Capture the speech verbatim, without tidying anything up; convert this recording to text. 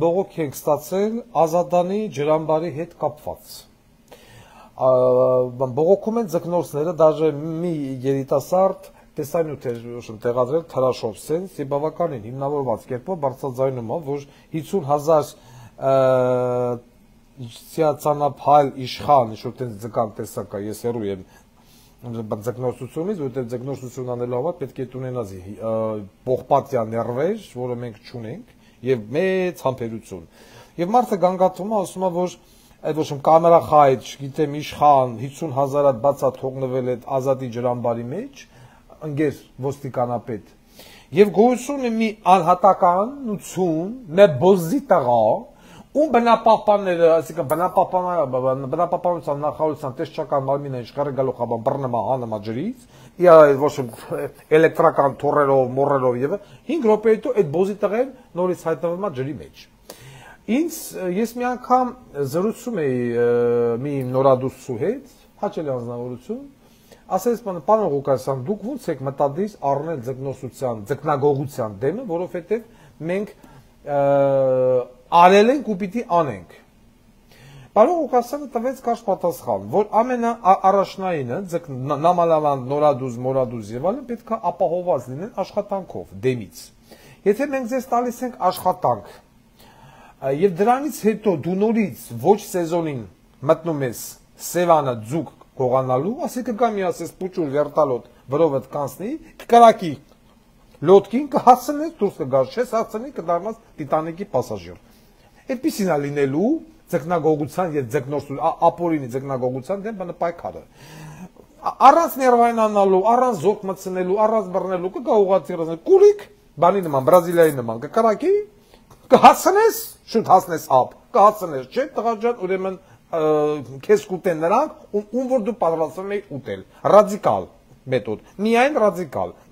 Բողոք ենք ստացել Ազատանի ջրամբարի հետ կապված։ Բողոքում են ձկնորսները, даже մի երիտասարդ տեսանյութ էր տեղադրել Թրաշով սենս եւ բավականին հիմնավորված կերպով բարձրաձայնում է, որ հիսուն հազար ցանափայլ իշխան, ինչ որ տենց ձկան տեսակ է, ես հեռու եմ ձկնորսությունից, որտեղ ձկնորսություն անելու համար պետք է ունենաս պողպատյա ներվեր, որը մենք չունենք, եւ մեծ համբերություն։ Եվ մարդը գանգատվում է, ասում է, որ այդ ոչ կամերախայտ, չգիտեմ, իշխան հիսուն հազար հատ բացա թողնվել այդ Ազատի ջրամբարի մեջ, ընկեր ոստիկանապետ։ Եվ գոյություն է մի անհատականություն, մի բոզի տղա, ում բնապահպանները, այսինքն բնապահպանության նախարարության տեսչական մարմինը իշխարը գալու խաբան բռնում է հանում ջրից, ոչ էլեկտրական թոռերով, մոռերով եւ հինգ րոպե հետո այդ բոզի տղեն նորից հայտնվում է ջրի մեջ։ Ինձ ես մի անգամ զրուցում էի մի նորադուսու հետ, հաճելի անձնավորություն, ասես պարոն Ղուկասյան, դուք ո՞նց եք մտադիր առնել ձկնորսության, ձկնագողության դեմը, որովհետեւ մենք արել ենք ու պիտի անենք։ Պարոն Ղուկասյանը տվեց կարճ պատասխան, որ ամենաառաջնայինը նամանավանդ նորադուզ, մորադուզ եւ այլն պետք է ապահովված լինեն աշխատանքով դեմից։ Եթե մենք ձեզ տալիս ենք աշխատանք, եւ դրանից հետո դու նորից ոչ սեզոնին մտնում ես Սևանը ձուկ գողանալու, ասիկա գա մի ասես փուճուր վերտալոտ վրովդ կանցնի, կկրակի լոդկին կհասնես դուրս կգաս, չես հասցնի կդառնաս Տիտանիկի պասաժիր։ Այդպեսին է լինելու ձկնագողության եւ ձկնորսության, ապօրինի ձկնագողության դեմ բանը պայքարը։ Առանց ներվայնանալու, առանց զորք մտցնելու, առանց բռնելու կգա ուղղաթիռը, կուրիկ, բանի նման, Բրազիլիայի նման, կկրակի, կհասնես, շուտ հասնես ապ, կհասնես, չէ՞ տղա ջան, ուրեմն քեզ կուտեն նրանք, ում որ դու պատրաստվում ես ուտել։ Ռադիկալ մեթոդ, միայն ռադիկալ։